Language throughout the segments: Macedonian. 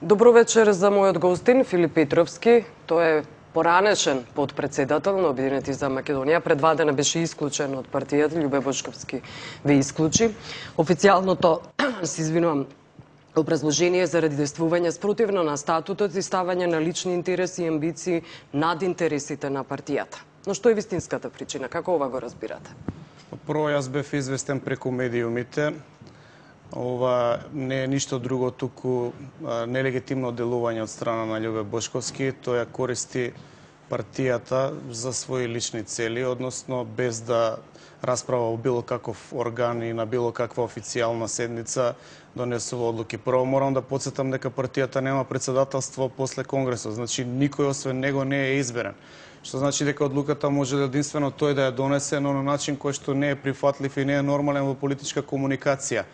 Добро вечер за мојот гостин Филип Петровски. Тој е поранешен подпредседател на Обединети за Македонија. Пред 2 дена беше исклучен од партијата, Љубе Бошковски ве исклучи. Официјалното, се извинувам, образложение заради действување спротивно на статутот и ставање на лични интереси и амбиции над интересите на партијата. Но што е вистинската причина? Како ова го разбирате? Прво, јас бев известен преку медиумите. Ова не е ништо друго, туку нелегитимно делување од страна на Љубе Бошковски. Тој ја користи партијата за своји лични цели, односно без да расправа во било каков орган и на било каква официјална седница донесува одлуки. Прво морам да потсетам дека партијата нема председателство после Конгресот, значи никој освен него не е изберен. Што значи дека одлуката може единствено тој да ја донесе, но на начин кој што не е прифатлив и не е нормален во политичка комуникација.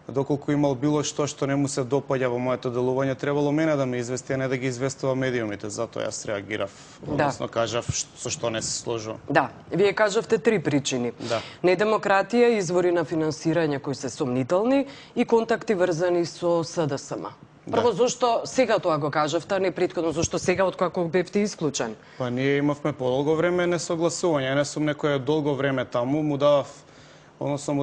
Доколку имал било што не му се допаѓа во моето делување, требало мене да ме извести, а не да ги известува медиумите. Затоа јас реагирав, односно кажав со што не се сложувам. Да, вие кажавте 3 причини. Да. Недемократија, извори на финансирање кои се сомнителни и контакти врзани со СДСМ. Прво, зошто сега тоа го кажавте, а не претходно, зошто сега откако бевте исклучен? Па ние имавме подолго време несогласување. Ја не сум некој долго време таму, му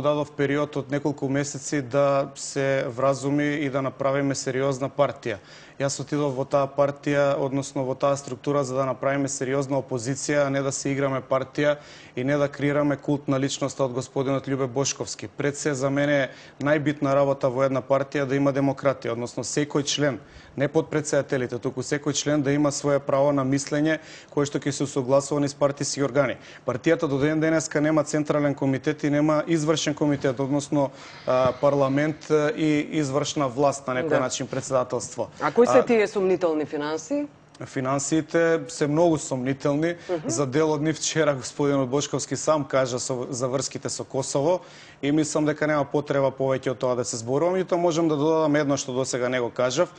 дадов период од неколку месеци да се вразуми и да направиме сериозна партија. Јас отидов во таа партија, односно во таа структура, за да направиме сериозна опозиција, а не да се играме партија и не да креираме култ на личноста од господинот Љубе Бошковски. Пред се за мене е најбитна работа во една партија да има демократија, односно секој член, не подпредседателите, туку секој член да има свое право на мислење кое што ќе се усогласува низ партиски органи. Партијата до ден денеска нема централен комитет и нема извршен комитет, односно парламент и извршна власт на некој начин председателство. А кои се тие сомнителни финанси? Финансиите се многу сомнителни. За дел од нив вчера господинот Бошковски сам кажа за врските со Косово и мислам дека нема потреба повеќе од тоа да се зборувам. И тоа можам да додадам едно што досега не го кажав.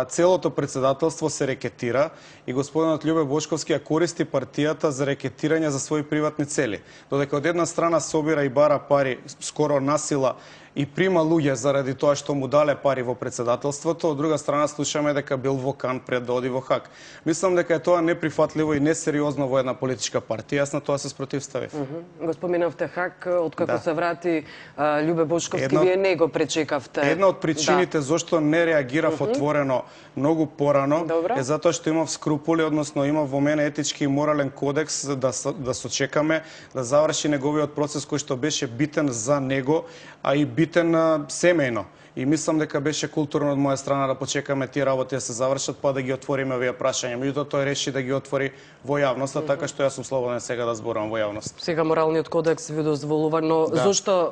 Целото председателство се рекетира и господинот Љубе Бошковски ја користи партијата за рекетирање за своји приватни цели. Додека од една страна собира и бара пари скоро насила и прима луѓе заради тоа што му дале пари во председателството, од друга страна слушаме дека бил во Кан пред да оди во Хаг. Мислам дека е тоа неприфатливо и несериозно во една политичка партија. Јас на тоа се спротивставив. Го споменавте Хаг, откако се врати Љубе Бошковски, вие не го пречекавте. Една од причините зошто не реагирав отворено многу порано е затоа што имав скрупули, односно имав во мене етички и морален кодекс да сочекаме да заврши неговиот процес кој што беше битен за него, а и битен семејно. И мислам дека беше културно од моја страна да почекаме тие работи да се завршат, па да ги отвориме овие прашања. Меѓутоа тој реши да ги отвори во јавноста, така што јас сум слободен сега да зборувам во јавност. Сега моралниот кодекс ви дозволува, но зошто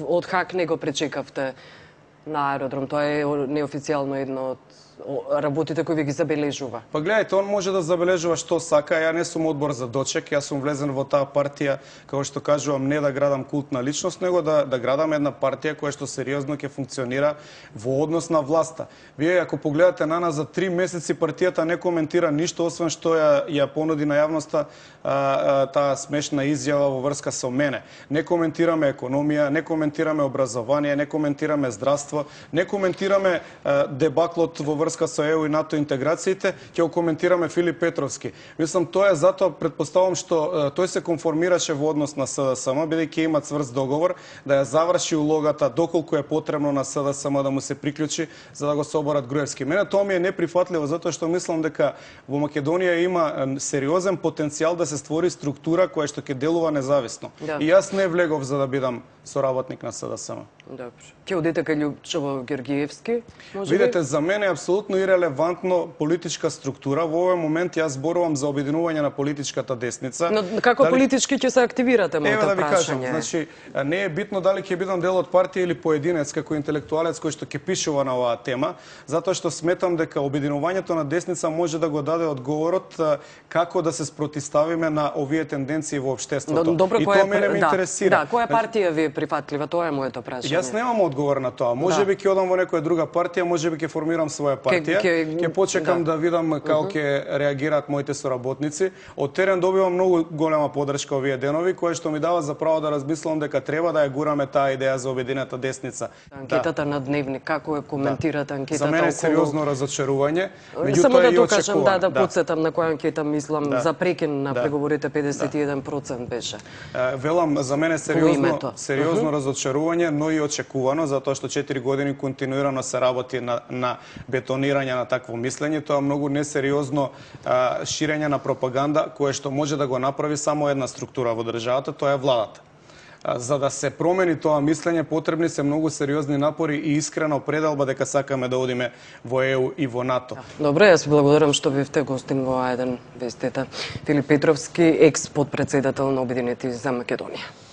од Хаг не го пречекавте на аеродром? Тоа е неофицијално едно од работите кои ви ги забележува. Па гледајте, он може да забележува што сака. Ја не сум одбор за дочек, јас сум влезен во таа партија, како што кажувам, не да градам култ на личност, него да градам една партија која што сериозно ќе функционира во однос на власта. Вие ако погледате на нас за 3 месеци партијата не коментира ништо освен што ја понуди на јавноста таа смешна изјава во врска со мене. Не коментираме економија, не коментираме образование, не коментираме здравство, не коментираме дебаклот во врска со ЕУ и НАТО интеграциите, ќе го коментираме Филип Петровски. Мислам, тоа е затоа, предпоставам што тој се конформираше во однос на СДСМ, бидејќи има цврст договор да ја заврши улогата доколку е потребно на СДСМ да му се приклучи за да го соборат Груевски. Мене тоа ми е неприфатливо затоа што мислам дека во Македонија има сериозен потенцијал да се створи структура која што ќе делува независно. И јас не влегов за да бидам соработник на СДСМ. Добро. Ќе одите кај Љупчево Георгиевски? Видете, за мене е апсолутно ирелевантно политичка структура. Во овој момент јас зборувам за обединување на политичката десница. Но како политички ќе се активирате, моето прашање? Еве да ви кажам, прашање? значи не е битно дали ќе бидам дел од партија или поединец како интелектуалец кој што ќе пишува на оваа тема, затоа што сметам дека обединувањето на десница може да го даде одговорот како да се спротивставиме на овие тенденции во општеството. Добро, и тоа мене ме интересира. Да, која партија ви е прифатлива? Тоа е моето прашање. Јас немам одговор на тоа. Можеби ќе одам во некоја друга партија, можеби ќе формирам своја партија. Ќе почекам да видам како ќе реагираат моите соработници. Од терен добивам многу голема поддршка овие денови, кое што ми дава за право да размислам дека треба да ја гураме таа идеја за обединета десница. Анкетата на Дневник, како ја коментирате анкетата? За мене е сериозно разочарување. Само да докажам, да потсетам на која анкета мислам за прекин на преговорите 51% беше. Велам, за мене сериозно разочарување, но и очекувано, затоа што 4 години континуирано се работи на бетонирање на такво мислење. Тоа е многу несериозно ширење на пропаганда, кое што може да го направи само една структура во државата, тоа е владата. За да се промени тоа мислење, потребни се многу сериозни напори и искрена определба дека сакаме да одиме во ЕУ и во НАТО. Добре, јас благодарам што бевте гостин во А1 вестите. Филип Петровски, екс-подпредседател на Обединети за Македонија.